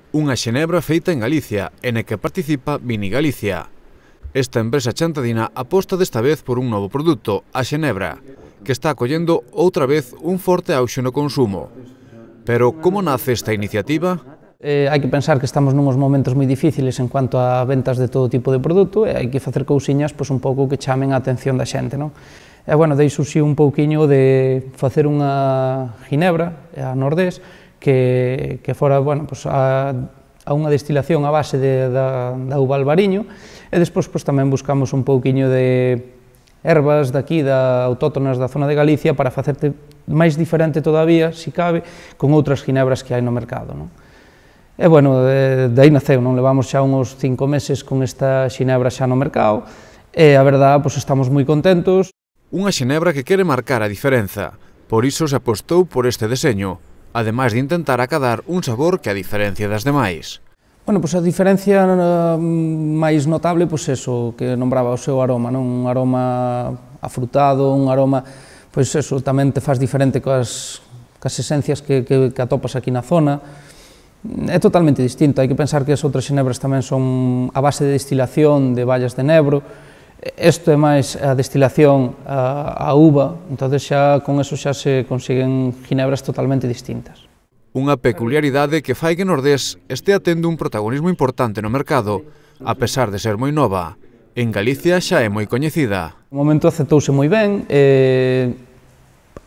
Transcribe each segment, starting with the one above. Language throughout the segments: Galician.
Unha xenebra feita en Galicia, e na que participa Vini Galicia. Esta empresa chantadina aposta desta vez por un novo produto, a xenebra, que está acollendo outra vez un forte auxe no consumo. Pero como nace esta iniciativa? Hai que pensar que estamos nuns momentos moi difíciles en cuanto a ventas de todo tipo de produto e hai que facer cousiñas un pouco que chamen a atención da xente, non? E, bueno, dei surxiu un pouquiño de facer unha ginebra, a Nordés, que fora, bueno, pues a unha destilación a base da uva albariño, e despois tamén buscamos un pouquiño de ervas daqui, autóctonas da zona de Galicia, para facerte máis diferente todavía, se cabe, con outras ginebras que hai no mercado, non? E, bueno, dai naceu, non? Levamos xa uns 5 meses con esta xinebra xa no mercado, e a verdade, pois estamos moi contentos. Unha xenebra que quere marcar a diferenza, por iso se apostou por este deseño, ademais de intentar acadar un sabor que a diferencia das demais. Bueno, pois a diferencia máis notable, pois eso, que nombraba o seu aroma, non? Un aroma afrutado, un aroma, pois eso, tamén te faz diferente coas esencias que atopas aquí na zona. É totalmente distinto, hai que pensar que as outras xenebras tamén son a base de destilación de vallas de nebro. Isto é máis a destilación a uva, entón xa con eso xa se consiguen ginebras totalmente distintas. Unha peculiaridade que fai que Nordés estea tendo un protagonismo importante no mercado, a pesar de ser moi nova. En Galicia xa é moi coñecida. O momento aceptouse moi ben,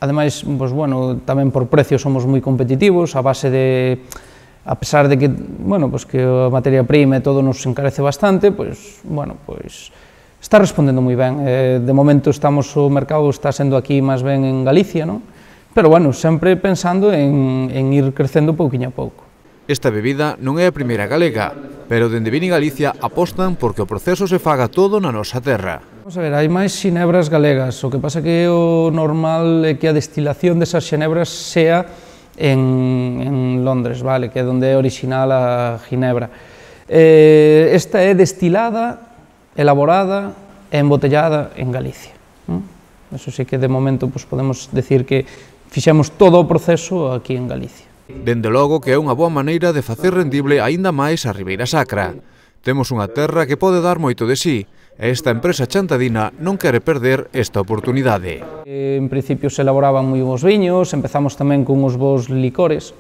ademais, pois, bueno, tamén por precio somos moi competitivos, a base de, a pesar de que, bueno, pois, que a materia prima e todo nos encarece bastante, pois, bueno, pois, está respondendo moi ben. De momento o mercado está sendo aquí máis ben en Galicia, non? Pero, bueno, sempre pensando en ir crecendo pouquiño a pouco. Esta bebida non é a primeira galega, pero dende Vini Galicia apostan porque o proceso se faga todo na nosa terra. Vamos a ver, hai máis xenebras galegas, o que pasa que o normal é que a destilación desas xenebras sea en Londres, vale, que é onde é original a ginebra. Esta é destilada, elaborada e embotellada en Galicia. Eso sí que de momento podemos decir que fixemos todo o proceso aquí en Galicia. Dende logo que é unha boa maneira de facer rendible aínda máis a Ribeira Sacra. Temos unha terra que pode dar moito de sí, e esta empresa chantadina non quere perder esta oportunidade. En principio se elaboraban moi bons viños, empezamos tamén con uns bons licores,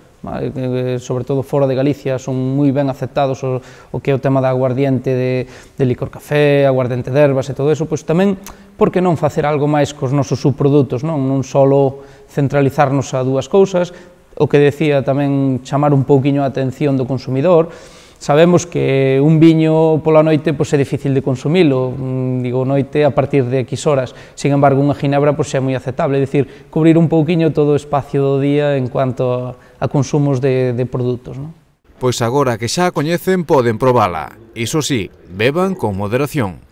sobre todo fora de Galicia son moi ben aceptados o que é o tema da aguardiente de licor café, aguardiente de ervas e todo eso, pois tamén, por que non facer algo máis cos nosos subprodutos, non só centralizarnos a dúas cousas, o que decía tamén chamar un pouquiño a atención do consumidor. Sabemos que un viño pola noite é difícil de consumilo, digo noite a partir de X horas, sin embargo unha ginebra é moi aceptable, é dicir, cubrir un pouquiño todo o espacio do día en cuanto a consumos de produtos. Pois agora que xa a coñecen poden probala, iso sí, beban con moderación.